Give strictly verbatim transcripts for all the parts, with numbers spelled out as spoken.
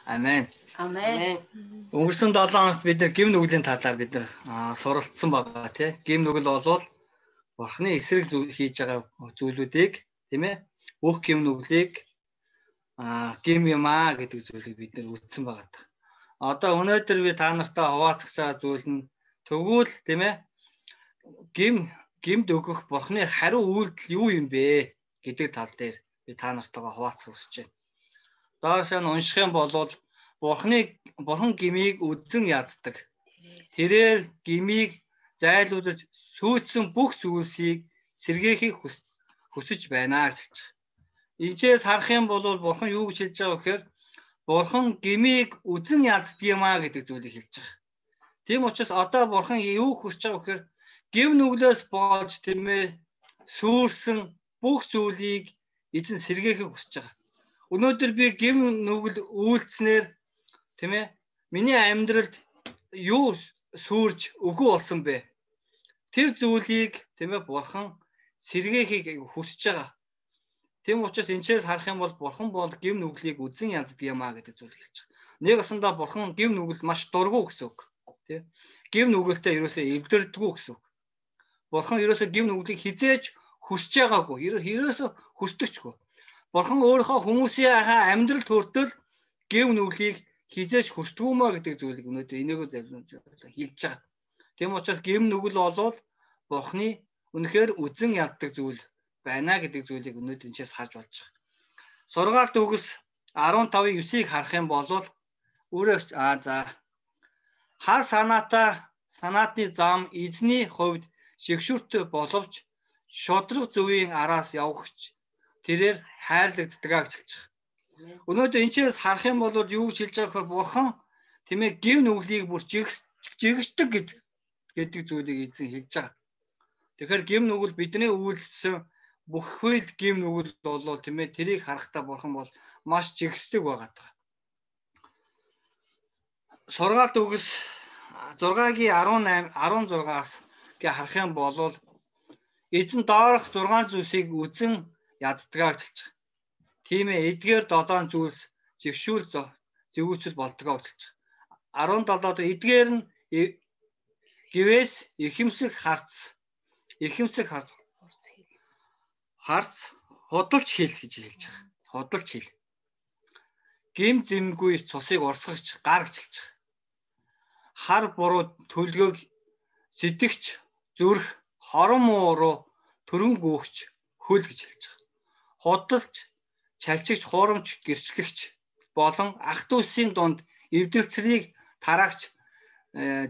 Амен. Амен. Өнгөрсөн долоо хоногт бид нар гим нүглийн талаар бид нар суралцсан байгаа тий. Гим нүгэл болвол Бурхны эсрэг хийж байгаа зүйлүүдийг тийм ээ бүх гим нүглийг а гим юмаа гэдэг зүйлийг бид нар үздсэн байгаа. Одоо өнөөдөр би та нартай хуваалцах байгаа зүйл нь тэгвэл тийм ээ гим гимд өгөх Бурхны хариу үйлдэл юу юм бэ гэдэг тал дээр би та нартайгаа хуваалцах хүсэж байна. Доошоо нь унших юм бол Бурхны Бурхан гмийг үдэн яддаг. Тэрээр гмийг зайлуулж сүйдсэн бүх зүйлсийг сэргээхийг хүсэж байна гэж хэлж байгаа. Эндээс харах юм бол Бурхан юу гэж хэлж байгаа вэ гэхээр Бурхан гмийг үдэн яддаг юмаа гэдэг зүйлийг хэлж байгаа. Тийм учраас одоо Бурхан юу хүсэж байгаа вэ гэхээр гим нүглээс болж тийм ээ сүрсэн бүх зүйлийг эзэн сэргээхийг хүсэж байгаа. Өнөөдөр би гим нүгэл үйлдснээр тийм ээ миний амьдралд юу сүрж өгөө болсон бэ? Тэр зүйлийг тийм ээ Бурхан сэргээхийг хүсэж байгаа. Тийм учраас энэчээс харах юм бол Бурхан бол гим нүглийг үдэн яддаг юмаа гэдэг зүйлийг хэлж байгаа. Нэг усандаа Бурхан гим нүгэл маш дургу гэсэн үг. Тийм. Гим нүгэлтэй ерөөсөө эвдэрдэггүй гэсэн үг. Бурхан ерөөсөө гим нүглийг хизээж хүсэж байгаагүй. Ерөөсөө хүсдэгчгүй. Бурхан өөрийнхөө хүмүүсийн амьдралд хүртэл гим нүглийг хизээж хүсдэггүй гэдэг зүйлийг өнөөдөр энийгөө залбирч хэлж байгаа. Тийм учраас гим нүгэл болвол Бурханы үнэхээр үдэн яддаг зүйл байна гэдэг зүйлийг өнөөдөр энэчээс харж болж байгаа. Сургаалт үгс арван тавын девятыг харах юм бол өөрөө аа за хар санаатай санаатны зам эзний хувьд шигшүүртэй боловч шодрог зөвийн араас явагч тэрээр хайрлагддаг гэж хэлж байгаа. Өнөөдөр энэчээс харах юм бол юу гэж хэлж байгаа вэ? Бурхан тийм ээ гим нүглийг бүр жигшдэг гэж гэдэг зүйлийг эзэн хэлж байгаа. Тэгэхээр гим нүгэл бидний үйлдэлсэн бүх хөл гим нүгэл болоо тийм ээ тэрийг харахтаа Бурхан бол маш жигсдэг байгаа. Сургаалт үгс зургагийн арван восемь арван зургаас гээ харах юм бол эзэн доорх зургаан зүйлсийг үзэн яддгаа гэж хэлж байгаа. Тийм ээ эдгээр долоон зүйлс жившүүл зөвүүцэл болдгоо гэж хэлж байгаа. арван долоод эдгээр нь гівээс ихэмсэх харц ихэмсэх харц харц худалч хэл гэж хэлж байгаа. Худалч хэл. Гим зэмгүй цусыг урсгаж гар гэж хэлж байгаа. Хар буруу төлгөөг сэтгэгч зүрх хорон муу руу төрөн гүөхч хөл гэж хэлж байгаа. Худалч чалчигч хуурамч гэрчлэгч болон ах дүүсийн дунд эвдэлцрийг тараагч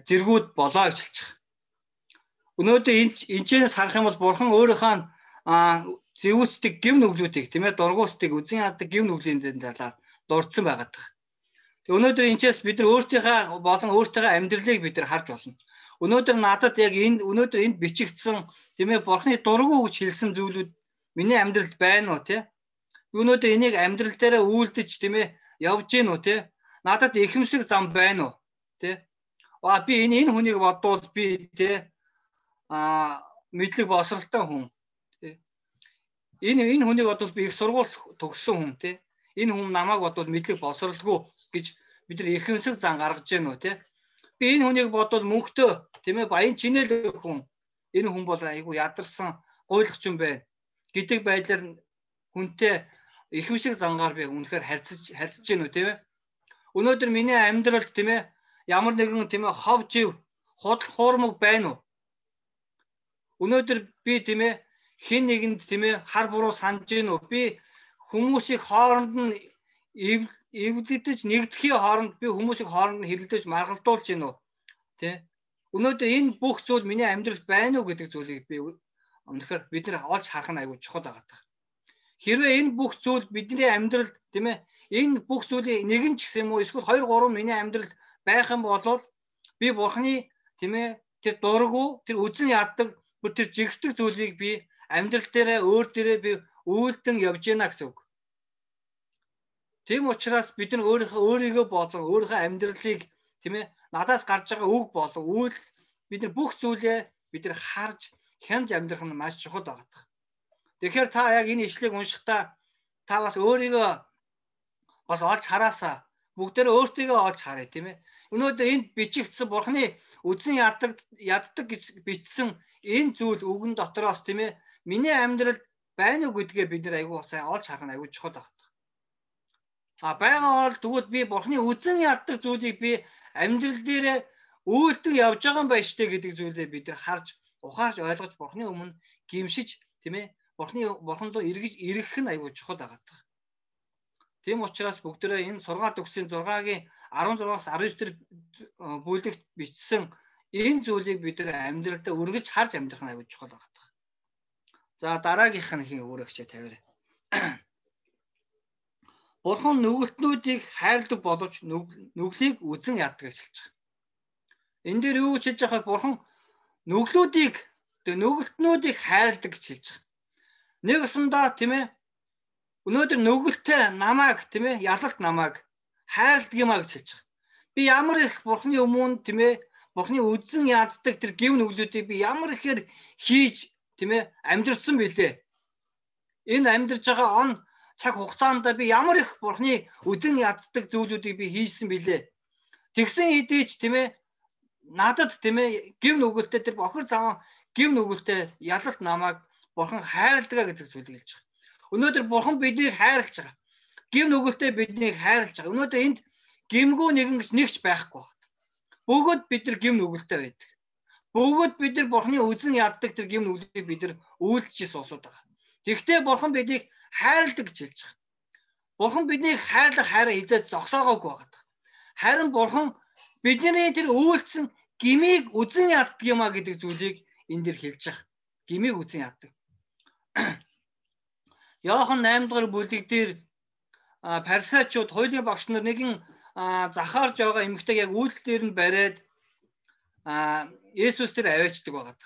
зэргүүд болоо гэж хэлж байгаа. Өнөөдөр энэчээс харах юм бол Бурхан өөрийнхөө зэвүүцдэг гим нүглүүдийг тийм ээ дургуустыг үзэн яддаг гим нүглийн талаар дурдсан байгаад байна. Тэг өнөөдөр энэчээс бид нар өөртөөхөө болон өөртөөхөө амьдралыг бид нар харж болно. Өнөөдөр надад яг энэ өнөөдөр энд бичигдсэн тийм ээ Бурханы дургу гэж хэлсэн зүйлүүд миний амьдралд байна уу тийм өнөөдөр энийг амьдрал дээр үйлдэж тийм ээ явж гин үү те надад ихэмсэг зам байна уу те аа би энэ энэ хүнийг бодвол би те а мэдлэг босралтай хүн те энэ энэ хүнийг бодвол би их сургууль төгссөн хүн те энэ хүн намайг бодвол мэдлэг босралгүй гэж бид нар ихэмсэг зам гаргаж гин үү те би энэ хүнийг бодвол мөнхтөө тийм ээ баян чинэл хүн энэ хүн бол айгүй ядарсан гуйлах юм байна гэдэг байдлаар хүнтэй ихэмшиг зангаар би үнэхээр харьцаж харьцаж гэнэ үү тийм ээ. Өнөөдөр миний амьдралд тийм ээ ямар нэгэн тийм ээ хов жив худал хуурмаг байна уу? Өнөөдөр би тийм ээ хэн нэгэнд тийм ээ хар буруу санаж гэнэ үү? Би хүмүүсийг хооронд нь эвлэгдэж нэгдэхийн хооронд би хүмүүсийг хооронд нь хэрэлдэж маргалдуулж гэнэ үү? Тэ? Өнөөдөр энэ бүх зүйл миний амьдралд байна уу гэдэг зүйлийг би үнэхээр бид нар олж харах нь айгүй чухал байгаа. Хэрвээ энэ бүх зүйл бидний амьдралд тийм ээ энэ бүх зүйлийн нэгэн ч гэсэн юм уу эсвэл хоёр гурван миний амьдралд байх юм бол би Бурханы тийм ээ тэр дургу тэр үзэн яддаг тэр жигсдэг зүйлийг би амьдрал дээрээ өөр дээрээ би үйлдэн явж гинэ гэсэн үг. Тийм учраас бид нар өөрийнхөө өөрийгөө болон өөрийнхөө амьдралыг тийм ээ надаас гарч байгаа үг болон үйл бид нар бүх зүйлээ бид нар харж хянж амьдрах нь маш чухал байгаа. Тэгэхээр та яг энэ ишлэгийг уншихдаа та бас өөрийгөө бас олж хараасаа бүгдээрээ өөртөө олж харъя тийм ээ. Өнөөдөр энд бичигдсэн Бурхны үзэн яддаг яддаг гэж бичсэн энэ зүйл үгэн дотроос тийм ээ. Миний амьдралд байна уу гэдгээ бид нар айгүй сайн олж харах нь айгүй чухал байна. А байгаа бол тэгвэл би Бурхны үзэн яддаг зүйлийг би амьдрал дээрээ үйлдэл явж байгаа юм байна штэ гэдэг зүйлээ бид нар харж ухаарж ойлгож Бурхны өмнө гимшиж тийм ээ. Бурхны Бурхан руу эргэж ирэх нь айгүй чухал байгаа. Тийм учраас бүгдээрээ энэ сургаалт өгсөн зургагийн арван зургаас арван девять дэх бүлэгт бичсэн энэ зүйлийг бид нар амьдралдаа үргэлж харж амьдрах нь айгүй чухал байгаа. За дараагийнх нь хин өөрөөгчөө тавиарай. Бурхан нүгэлтнүүдийг хайрладаг боловч нүглийг үзэн яддаг гэж хэлж байгаа. Энэ дээр юу гэж хэлж байгаа вэ? Бурхан нүглүүдийг нүгэлтнүүдийг хайрладаг гэж хэлж байгаа. Нэг усандаа тийм ээ. Өнөөдөр нүгэлтэй намайг тийм ээ ялалт намайг хайрладаг юмаа гэж хэлж байгаа. Би ямар их Бурханы өмнө тийм ээ Бурханы үзэн яддаг тэр гив нүглүүдийг би ямар ихээр хийж тийм ээ амьдрсан билээ. Энэ амьдарч байгаа он цаг хугацаанд би ямар их Бурханы үдэн яддаг зүйлүүдийг би хийсэн билээ. Тэгсэн хэдий ч тийм ээ надад тийм ээ гив нүгэлтэй тэр бохир заван гив нүгэлтэй ялалт намайг Бурхан хайрладаг гэдэг зүйлийг хэлж байгаа. Өнөөдөр Бурхан биднийг хайрлаж байгаа. Гив нүгэлтэй биднийг хайрлаж байгаа. Өнөөдөр энд гимгүү нэгэн гэж нэгч байхгүй байна. Бүгд бид нар гив нүгэлтэй байдаг. Бүгд бид нар Бурханы үзэн яддаг тэр гив нүглийг бид нар үйлдэж суусууд байгаа. Тэгвэл Бурхан биднийг хайрладаг гэж хэлж байгаа. Бурхан биднийг хайрлах хайраа хизээд зогсоогоогүй байгаа. Харин Бурхан бидний тэр үйлдсэн гмийг үзэн яддаг юмаа гэдэг зүйлийг энэ дэр хэлж байгаа. Гмийг үзэн яддаг. Иохан найман дугаар бүлэг дээр Фарисеучуд хуулийн багш нар нэгэн захаарж байгаа эмэгтэйг яг үйлдэл дээр нь бариад Есүс тэр аваачдаг байгаа.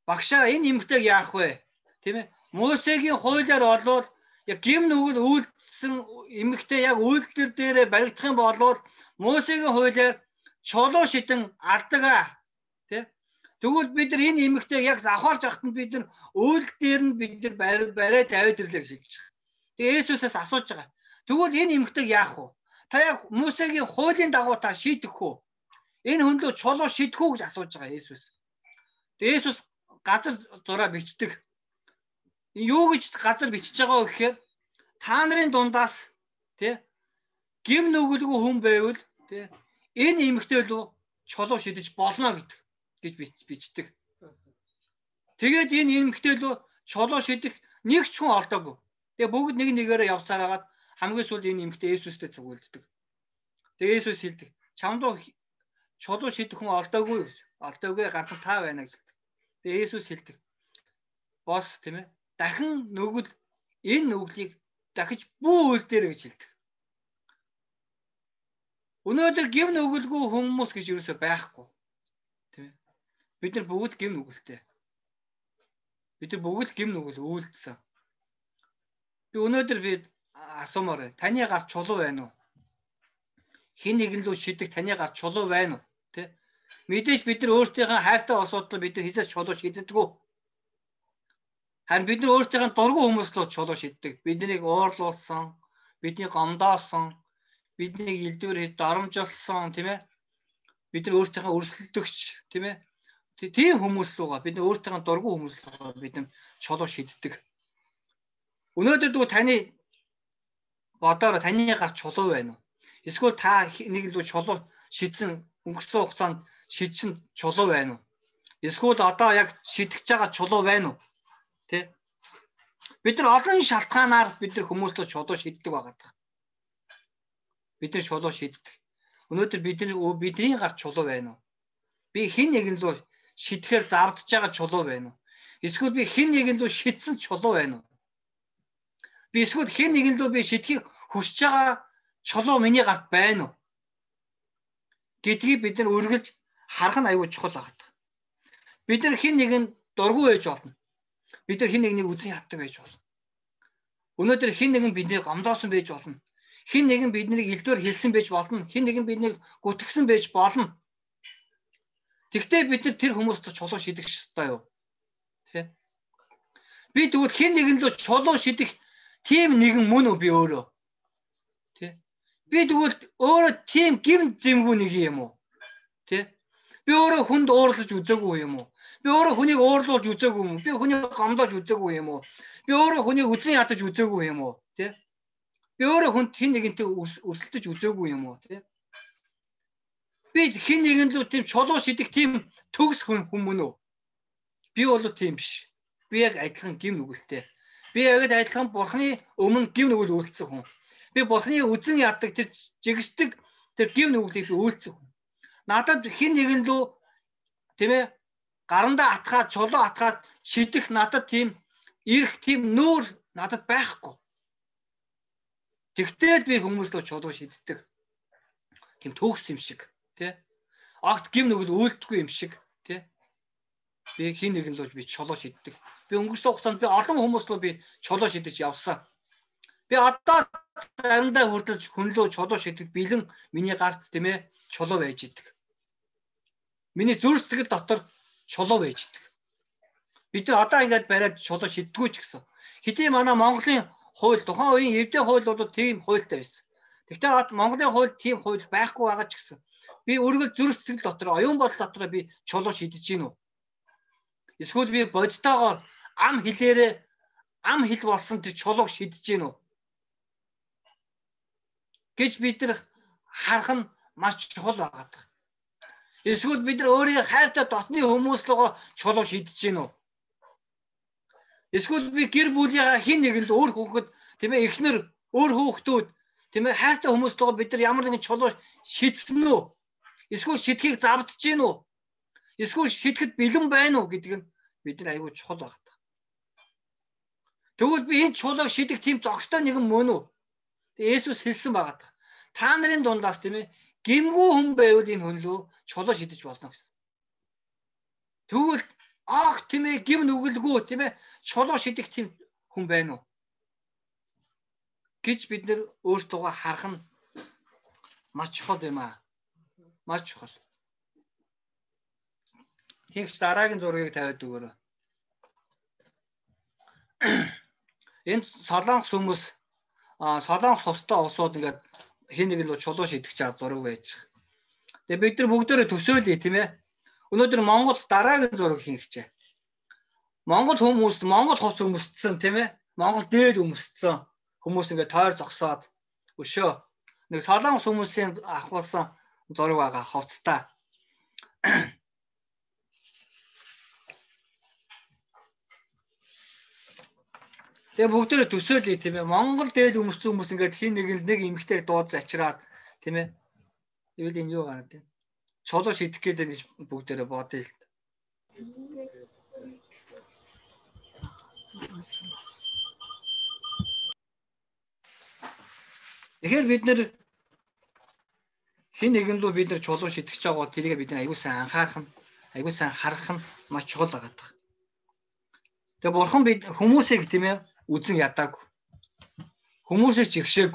Багшаа энэ эмэгтэйг яах вэ? Тийм ээ. Мосегийн хуулиар олвол яг гим нүгэл үйлдэлсэн эмэгтэй яг үйлдэл дээр баригдах юм бол Мосегийн хуулиар чулуу шидэн алдаг аа. Тийм. Тэгвэл бид нар энэ эмэгтэйг яг завхаарж ахтанд бид нар үйлдэл дээр нь бид нар бариад аваад ирлээ гэж хэлж байгаа. Тэгээ Есүсээс асууж байгаа. Тэгвэл энэ эмэгтэйг яах вэ? Та яг Мосегийн хуулийн дагуу та шийдэх үү? Энэ хүн лөө чулуу шидэх үү гэж асууж байгаа Есүс. Тэгээ Есүс газар зураа бичдэг. Юу гэж газар бичиж байгаа вэ гэхээр та нарын дундаас тий гим нүгэлгүй хүн байвал тий энэ эмэгтэй лөө чулуу шидэж болно гэдэг гэж бичдэг. Тэгээд энэ эмэгтэй лөө чулуу шидэх нэг ч хүн олдоогүй. Тэгээ бүгд нэг нэгээрээ явсаар хагаад хамгийн сүүлд энэ эмэгтэй Есүстэй зүгэлддэг. Тэгээ Есүс хэлдэг. Чамд чулуу шидэх хүн олдоогүй гэж. Олдоогүй ганцхан та байна гэж хэлдэг. Тэгээ Есүс хэлдэг. Бос тийм ээ. Дахин нүгэл энэ нүглийг дахиж бүү үйл дээр гэж хэлдэг. Өнөөдөр гим нүгэлгүй хүмүүс гэж юусоо байхгүй. Тийм ээ. Бид нар бүгд гим нүгэлтэй. Бид нар бүгд гим нүгэл үйлдсэн. Би өнөөдөр би асуумаар байна. Таны гар чулуу байна уу? Хин нэгэн лөө шидэх таны гар чулуу байна уу? Тэ? Мэдээж бид нар өөрсдийнхээ хайртай асуудал бид нар хизээс чулуу шийддэггүй. Харин бид нар өөрсдийнхээ дургүй хүмүүс лөө чулуу шийддэг. Биднийг уурлуулсан, биднийг гомдоосон, биднийг илдвэр дарамжилсан, тийм ээ? Бид нар өөрсдийнхээ өрсөлдөгч, тийм ээ? Тийм хүмүүс луугаа бид нар өөрсдийнхээ дургүй хүмүүс луугаа бид нар чулуу шийддэг. Өнөөдөр дүү таны бодоор таны гар чулуу байна уу? Эсвэл та нэг л чулуу шидсэн өнгөрсөн хугацаанд шидсэн чулуу байна уу? Эсвэл одоо яг шидэж байгаа чулуу байна уу? Тэ? Бид нар олон шалтгаанаар бид нар хүмүүслөө чулуу шиддэг байгаа. Бид нар чулуу шиддэг. Өнөөдөр бидний бидний гар чулуу байна уу? Би хэн нэгэн лөө шидэхээр завдж байгаа чулуу байна уу? Эсвэл би хэн нэгэн лөө шидсэн чулуу байна уу? Би эсвэл хэн нэгэн лөө би шидэхийг хүсэж байгаа чулуу миний гарт байна уу? Гэдгийг бид нар үргэлж харах нь аюул чухал байгаа. Бид нар хэн нэгэн дургүй байж болно. Бид нар хэн нэгнийг үзэн яддаг байж болно. Өнөөдөр хэн нэгэн биднийг гомдоосон байж болно. Хэн нэгэн биднийг илдвэр хэлсэн байж болно. Хэн нэгэн биднийг гүтгсэн байж болно. Тэгвэл бид нар тэр хүмүүст чулуу шидэх ёстой юу? Тэ? Би тэгвэл хэн нэгэн л чулуу шидэх тийм нэгэн мөн үү би өөрөө? Тэ? Би тэгвэл өөрөө тийм гим зэмгүй нэг юм уу? Тэ? Би өөрөө хүнд уурлаж үзээгүй юм уу? Би өөрөө хүнийг уурлуулж үзээгүй юм уу? Би хүнийг гомдоож үзээгүй юм уу? Би өөрөө хүнийг үзэн ядаж үзээгүй юм уу? Тэ? Би өөрөө хүнд хин нэгэнтэй өрсөлдөж үзээгүй юм уу? Тэ? Би хин нэгэн лүү тийм чулуу шидэх тийм төгс хүн хүмүүн үү? Би бол тийм биш. Би яг адилхан гим нүгэлтэй. Би яг адилхан бурхны өмнө гим нүгэл үйлцсэн хүн. Би бурхны үзэн яддаг тэр жигсдэг тэр гим нүглийг би үйлцсэн хүн. Надад хин нэгэн лүү тийм ээ гарандаа атгаад чулуу атгаад шидэх надад тийм ирэх тийм нүүр надад байхгүй. Тэгтэл би хүмүүс лөө чулуу шиддэг. Тийм төгс юм шиг тий. Огт гим нүгэл үйлдэхгүй юм шиг тий. Би хин нэгэн лөө би чулуу шиддэг. Би өнгөрсөн хугацаанд би олон хүмүүс лөө би чулуу шидэж явсан. Би одоо заримдаа хүрдэлж хүн лөө чулуу шидэх бэлэн миний гарт тийм ээ чулуу байж идэг. Миний зүрх сэтгэл дотор чулуу байж идэг. Бид нар одоо ингээд бариад чулуу шиддэггүй ч гэсэн. Хэдий манай Монголын хууль тухайн үеийн эвдээ хууль бол тийм хуультай байсан. Гэхдээ Монголын хууль тийм хууль байхгүй байгаа ч гэсэн. Би үргэлж зүрх сэтгэл дотор оюун бодол дотор би чулуу шидэж гин үү? Эсвэл би бодтойгоор ам хэлээрээ ам хэл болсон тэр чулууг шидэж гин үү? Гэж бид нар харах нь маш чухал байгаа. Эсвэл бид нар өөрийн хайртай дотны хүмүүс лугаа чулуу шидэж гин үү? Эсвэл би гэр бүлийнхаа хин нэгэнд өөр хүүхэд тийм ээ эхнэр өөр хүүхдүүд тийм ээ хайртай хүмүүс лугаа бид нар ямар нэгэн чулуу шидсэн үү? Эсвэл шидхийг завдж гин үү? Эсвэл шидэхэд бэлэн байна уу гэдэг нь бид нар аягүй чухал байна. Тэгвэл би энэ чулууг шидэх тийм зохистой нэгэн мөн үү? Есүс хэлсэн байгаа. Та нарын дундаас тийм ээ гимгүү хүн байвал энэ хүн лөө чулуу шидэж болно гэсэн. Тэгвэл ах тийм ээ гим нүгэлгүй тийм ээ чулуу шидэх тийм хүн байна уу? Гэж бид нар өөртөө харах нь маш чухал юм аа. Маш чухал. Тэгж дараагийн зургийг тавиад өгөөрэй. Энэ солонгос хүмүүс а солонгос хостой улсууд ингээд хин нэг л чулуу шидэх чад зураг байж байгаа. Тэгээ бид нар бүгдээрээ төсөөлье тийм ээ. Өнөөдөр Монгол дараагийн зураг хийх гэж. Монгол хүмүүс Монгол хос өмсдсөн тийм ээ. Монгол дээд өмсдсөн хүмүүс ингээд тойр зогсоод өшөө нэг солонгос хүмүүсийн авахулсан зураг байгаа ховцтой. Тэгээ бүгдээрээ төсөөлье тийм ээ. Монгол дээд өмссөн хүмүүс ингээд хин нэг нэг эмгтэй дууд зачраад тийм ээ. Тэгвэл энэ юу гараад тийм. Чулуу шидэх гэдэг гэж бүгдээрээ бодъё л. Тэгэхээр бид нэр хин нэгэн лөө бид нар чулуу шидэж байгаа тэрийг бид нар аягүй сайн анхаарах нь аягүй сайн харах нь маш чухал байгаа. Тэгээ бурхан бид хүмүүсийг тийм ээ үзэн ядааг. Хүмүүсийг чигшээг.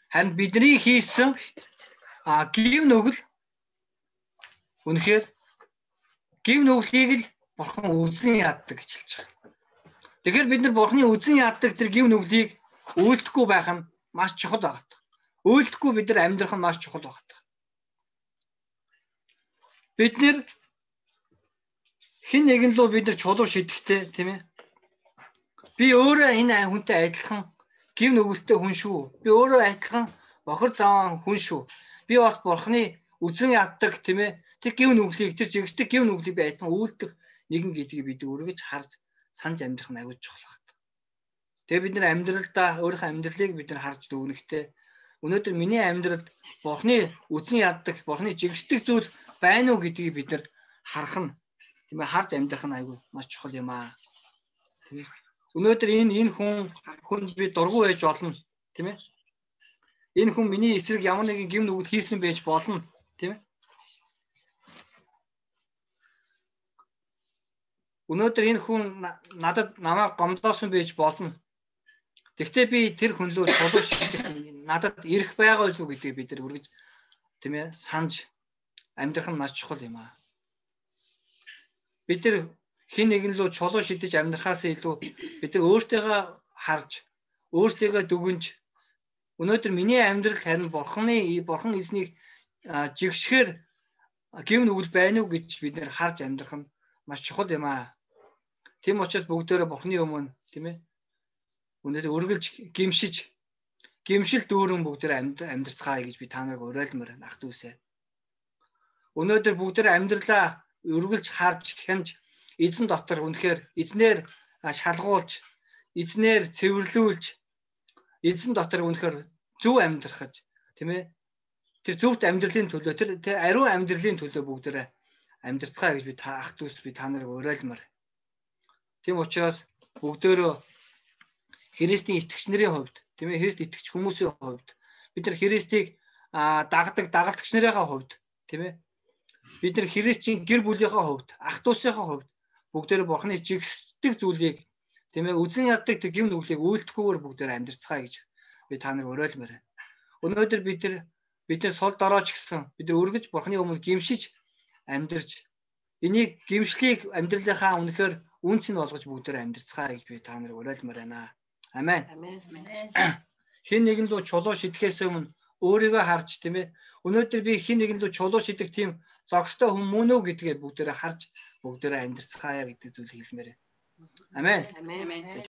Харин бидний хийсэн а гим нүгэл үнэхээр гим нүглийг л бурхан үзэн яддаг гэж хэлж байгаа. Тэгэхээр бид нар бурханы үзэн яддаг тэр гим нүглийг үйлдэхгүй байх нь маш чухал байна. Үйлдэхгүй бид нар амьдрах нь маш чухал байна. Бид нэр хин нэгэн лөө бид нар чулуу шидэхтэй тийм ээ. Би өөрөө энэ хүнтэй адилхан гим нүгэлтэй хүн шүү. Би өөрөө адилхан бохор заван хүн шүү. Би бас бурханы үзэн яддаг тийм ээ. Тэр гим нүглийг тэр жигсдэг гим нүглийг би адилхан үйлдэх нэгэн гэдгийг бид үргэж харж санаж амьдрах нь аягүй чухал байна. Тэгээ бид нар амьдралдаа өөрийнхөө амьдралыг бид нар харж дүгнэхтэй. Өнөөдөр миний амьдралд бурханы үзэн яддаг, бурханы жигсдэг зүйл байна уу гэдгийг бид нар харах нь тийм ээ харж амьдрах нь аягүй маш чухал юм аа. Тийм ээ. Өнөөдөр энэ энэ хүн хүнд би дургу байж болно тийм ээ. Энэ хүн миний эсрэг ямар нэгэн гим нүгэл хийсэн байж болно тийм ээ. Өнөөдөр энэ хүн надад намайг гомдоосон байж болно. Тэгвэл би тэр хүн лөө чулуу шидэх надад ирэх байгаа юу гэдгийг бид нар үргэж тийм ээ санаж амьдрах нь маш чухал юм аа. Бид нар хин нэгэн лөө чулуу шидэж амьдрахаас илүү бид нар өөртөө харж өөртөө дүгнж Өнөөдөр миний амьдрал харин бурхны бурхан эзнийг жигшгээр гэв нүгэл байна уу гэж бид нэр харж амьдрах нь маш чухал юм аа. Тийм учраас бүгдээрээ бурхны өмнө тийм ээ өнөөдөр өргөлж гимшиж гимшил дүүрэн бүгдээрээ амьдрцгаая гэж би та нарыг уриалмаар байна ах дүүсээ. Өнөөдөр бүгдээрээ амьдралаа өргөлж харж хянж эзэн дотор үнэхээр эзнэр шалгуулж эзнэр цэвэрлүүлж эзэн дотор үнэхээр зөв амьдрахж тийм ээ тэр зөвхт амьдралын төлөө тэр тэр ариун амьдралын төлөө бүгдээрээ амьдрцгаая гэж би та ах дүүс би та нарыг уриалмаар. Тийм учраас бүгдөө Христийн итгэгч нарын хувьд тийм ээ Христ итгэгч хүмүүсийн хувьд бид нар Христийг дагдаг дагалдагч нарын хувьд тийм ээ бид нар Христийн гэр бүлийнхээ хувьд ах дүүсийнхээ хувьд бүгдээр бурхны жигсдэг зүйлийг тийм ээ үзэн яддаг тэр гэм нүглийг үйлдэхгүйгээр бүгдээр амьдрцгаая гэж би та нарыг уриалмаар байна. Өнөөдөр бид нар бид нар сул дорооч гэсэн бид нар өргөж бурхны өмнө гимшиж амьдарч энийг гимшлийг амьдралынхаа үнэхээр үнц нь болгож бүгдээр амьдрцгаая гэж би та нарыг уриалмаар байна. Амен. Хин нэгэн лөө чулуу шидэхээс өмнө өөрийгөө харж тийм ээ өнөөдөр би хин нэгэн лөө чулуу шидэх тийм зогстой хүн мөн үү гэдгээ бүгдээрээ харж бүгдээрээ амьдрцгаая гэдэг зүйл хэлмээр. Амен.